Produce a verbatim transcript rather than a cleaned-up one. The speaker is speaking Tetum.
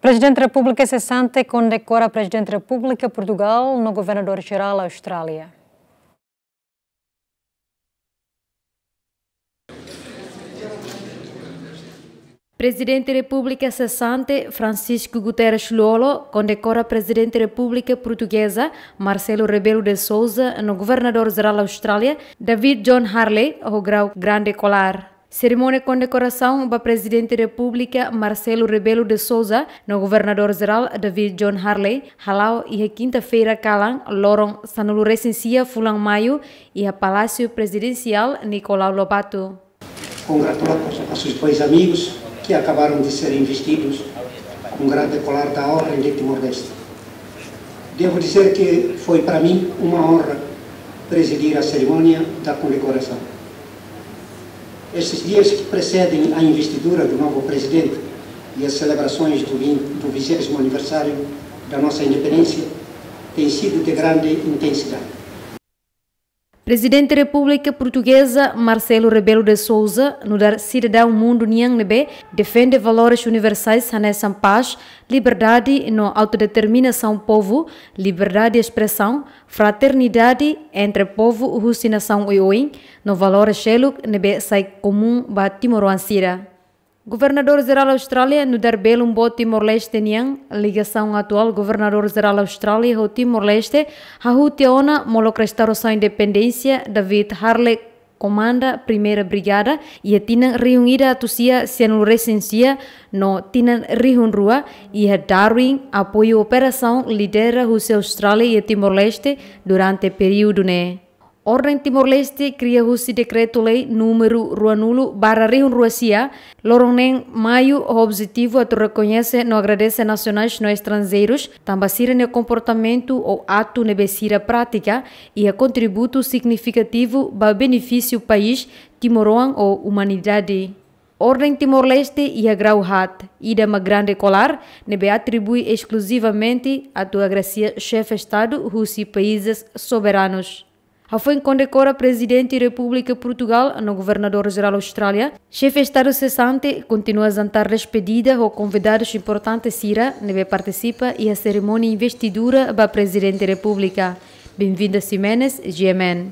Prezidente Repúblika sesante kondekora Prezidente Repúblika Portugal no Governadór Jerál Austrália. Prezidente Repúblika sesante Francisco Guterres Lú-Olo kondekora Prezidente Repúblika Portugeza Marcelo Rebelo de Sousa no Governadór Jerál Austrália David John Harley ho grau Grande Kolar. Serimónia kondekorasaun ba Prezidente Repúblika Marcelo Rebelo de Sousa no Governadór Jerál David John Harley hala'o iha kinta-feira kalan, loron sanulu-resin-sia fulan Maiu, iha Palásiu Prezidensiál Nicolau Lobato. Congratular a sus dois amigos que acabaram de ser investidos com o grande colar da Ordem de Timor-Leste. Devo dizer que foi para mim uma honra presidir a cerimónia da condecoração. Estes dias que precedem a investidura do novo presidente e as celebrações do vin-, do vigésimo aniversário da nossa independência têm sido de grande intensidade. Prezidente Repúblika Portugeza Marcelo Rebelo de Sousa nu'udar sidadaun mundu nian ne'ebé defende valores universais hanesan pás, liberdade no autodeterminasaun povu, liberdade espresaun, fraternidade entre povu husi nasaun oioin, no valores seluk ne'ebé sai komún ba timoroan sira. Governadór Jerál Austrália nu'udar belun boot Timor-Leste nian, ligasaun atuál Governadór Jerál Austrália ho Timor-Leste hahú tiha ona molok restaurasaun independénsia David Harley komanda Primeira Brigada iha tinan rihun ida atus sia sianulu-resin-sia no tinan rihun rua iha Darwin, apoiu operasaun lidera husi Austrália iha Timor-Leste durante períodu ne'e. Orden Timor-Leste kria husi Dekretu-Lei númeru ruanulu barra rihun rua sia, loron neen Maiu, ho objetivu atu rekoñese no agradese nasionais no estranjeirus tanba sira-nia komportamentu ou atu ne'ebé sira pratika iha kontributu signifikativu ba benefísiu país, timoroan ou umanidade. Orden Timor-Leste iha grau haat, ida mak Grande Kolar, ne'ebé atribui eskluzivamente atu agrasia Xefe Estadu husi países soberanus. Hafoin kondekora Prezidente Repúblika Portugal no Governadór Jerál Austrália, Xefe Estadu sesante kontinua jantar despedida ho konvidadus importante sira ne'ebé partisipa iha serimónia investidura ba Prezidente Repúblika. Benvinda Ximenes, G M N.